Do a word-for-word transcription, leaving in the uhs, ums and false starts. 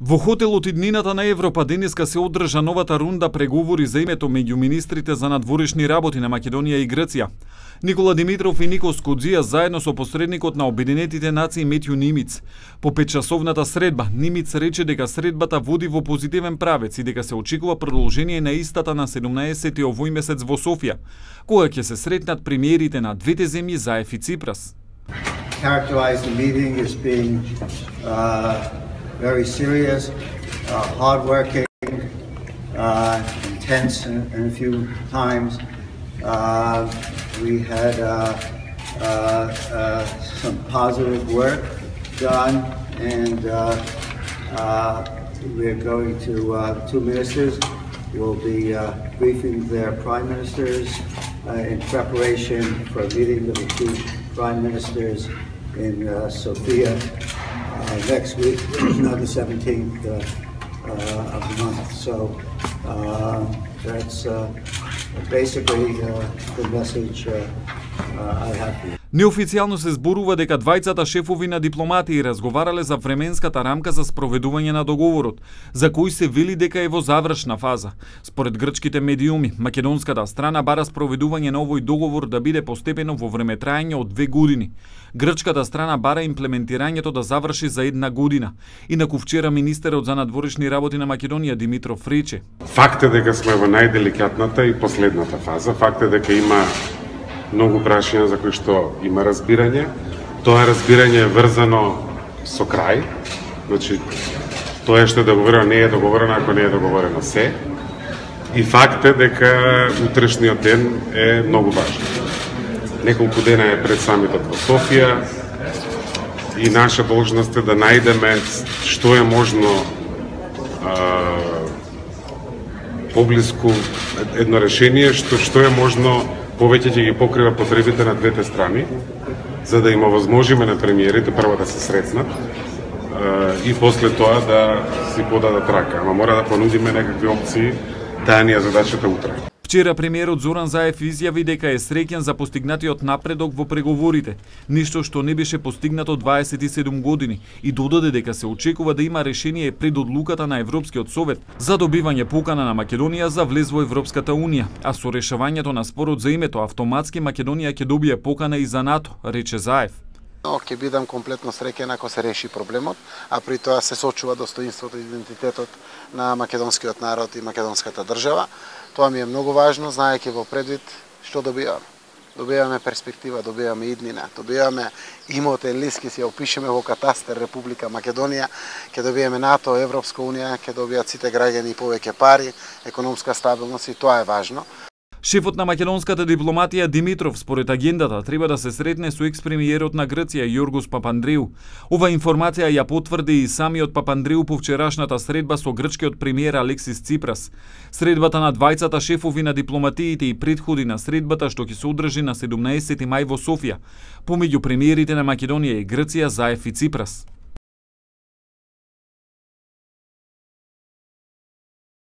Во хотелот иднината на Европа денеска се одржа новата рунда преговори за името меѓу министрите за надворешни работи на Македонија и Грција. Никола Димитров и Никос Коджија заедно со посредникот на Обединетите нации Метју Нимиц. По петчасовната средба, Нимиц рече дека средбата води во позитивен правец и дека се очекува продолжение на истата на седумнаесети овој месец во Софија, кога ќе се сретнат премиерите на двете земји Заев и Ципрас. Characterize the meeting as being uh, very serious, uh, hardworking, uh, intense in, in a few times. Uh, we had uh, uh, uh, some positive work done, and uh, uh, we're going to uh, two ministers will be uh, briefing their prime ministers uh, in preparation for a meeting of the two prime ministers in uh, Sofia uh, next week, on the seventeenth uh, uh, of the month. So uh, that's uh, basically uh, the message uh, uh, I have for you. Неофицијално се зборува дека двајцата шефови на дипломатии разговарале за временската рамка за спроведување на договорот, за кој се вели дека е во завршна фаза. Според грчките медиуми, македонската страна бара спроведување на овој договор да биде постепено во времетраење од две години. Грчката страна бара имплементирањето да заврши за една година. Инаку вчера министерот за надворешни работи на Македонија Димитров рече: Факт е дека сме во најделикатната и последната фаза. Факт е дека има многу прашања за кои што има разбирање. Тоа разбирање е врзано со крај. Значи, тоа што е договорено не е договорено ако не е договорено се. И факт е дека утрешниот ден е многу важен. Неколку дена е пред самитот во Софија и наша должност е да најдеме што е можно а, поблиску едно решение, што што е можно повеќе ќе ги покрива потребите на двете страни, за да им овозможиме на премиерите прво да се сретнат и после тоа да си подадат рака. Ама мора да понудиме некакви опции, таа ни е задачата утре. Вчера премиерот Зоран Заев изјави дека е среќен за постигнатиот напредок во преговорите, ништо што не беше постигнато дваесет и седум години, и додаде дека се очекува да има решение пред одлуката на Европскиот совет за добивање покана на Македонија за влез во Европската унија, а со решавањето на спорот за името автоматски Македонија ќе добие покана и за НАТО, рече Заев. Но ќе бидам комплетно среќен ако се реши проблемот, а при тоа се сочува достоинството и идентитетот на македонскиот народ и македонската држава. Тоа ми е многу важно, знаејќи во предвид што добиваме. Добиваме перспектива, добиваме иднина, добиваме имотен лист, ќе си ја опишеме во катастер Република Македонија, ќе добиеме НАТО, Европска унија, ќе добијат сите граѓани повеќе пари, економска стабилност, и тоа е важно. Шефот на македонската дипломатија Димитров според агендата треба да се сретне со екс-премиерот на Грција Јоргос Папандреу. Ова информација ја потврди и самиот Папандреу по вчерашната средба со грчкиот премиер Алексис Ципрас. Средбата на двајцата шефови на дипломатиите и претходи на средбата што ќе се одржи на седумнаесети мај во Софија, помеѓу премиерите на Македонија и Грција Заев и Ципрас.